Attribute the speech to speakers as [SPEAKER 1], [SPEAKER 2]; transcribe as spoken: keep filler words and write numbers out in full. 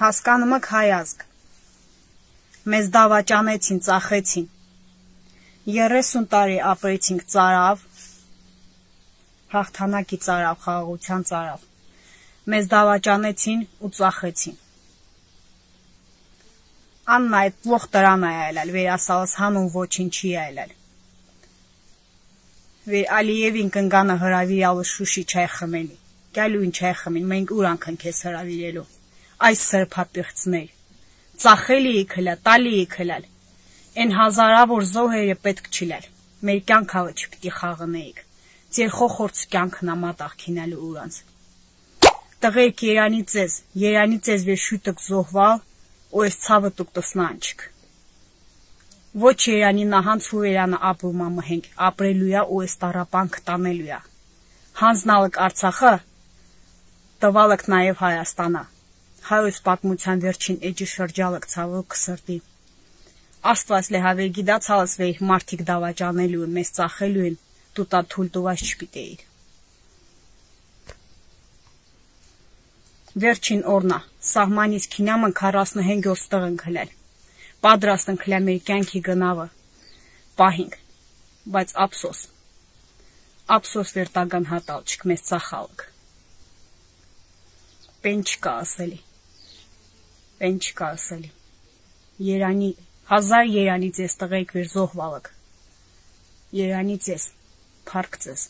[SPEAKER 1] Հասկանում եք հայ ազգ, մեզ դավաճանեցին, ծախեցին, երեսուն տարի ապրեցինք ծարավ, հաղթանակի ծարավ, խաղաղության ծարավ, մեզ դավաճանեցին ու ծախեցին։ Աննա այդ պլոխ տրան է այլել, վեր ասալս հանուն ոչինչի է այլել։ Վեր Ալիևին կնգանը հրավիրալը շուշի չայ խմելի, կյալույն չայ խմին, մենք ուրանքն քեզ հրավիրելու, այս սրպապիղծներ, ծախելի քլա, տալի քլալ, են հազարավոր զոհերը պետք չիլել, մեր կյանքավը չպիտի խաղնեիք, ձեր խոխորձ կյանքն ամատաղ քինալու ուրանց։ Տղերք երանի ձեզ, երանի ձեզ վեր շուտըք զոհվալ, ու ես ցավը տուկ տսնանչք։ Ոչ երանի նահանց հուրերանը ապրում ամհենք, ապրելույա ու ես տարապանք տանելույա։ Հանձնալըք Արցախը, տվալըք նաև Հայաստանա, հայոց պատմության վերջին էջի շրջալըք ցավը կսրտի։ Աստված լեհավեր գիդացալս վեր մարդիկ դավաճանելու են, մեզ ծախելու են, տուտա թույլ տուված չպիտեիր։ Վերջին օրնա, սահմանից քինամը քառասունհինգ օր ստղն քլել, պատրաստ են քլել մեր կյանքի գնավը, պահինք, բայց ափսոս, ափսոս վեր տագան հատալչք, մեզ ծախալք, պեն չկա ասելի, պեն չկա ասելի, երանի, հազար երանի ձեզ տղեիք վեր զոհվալք, երանի ձեզ, փարք ձեզ։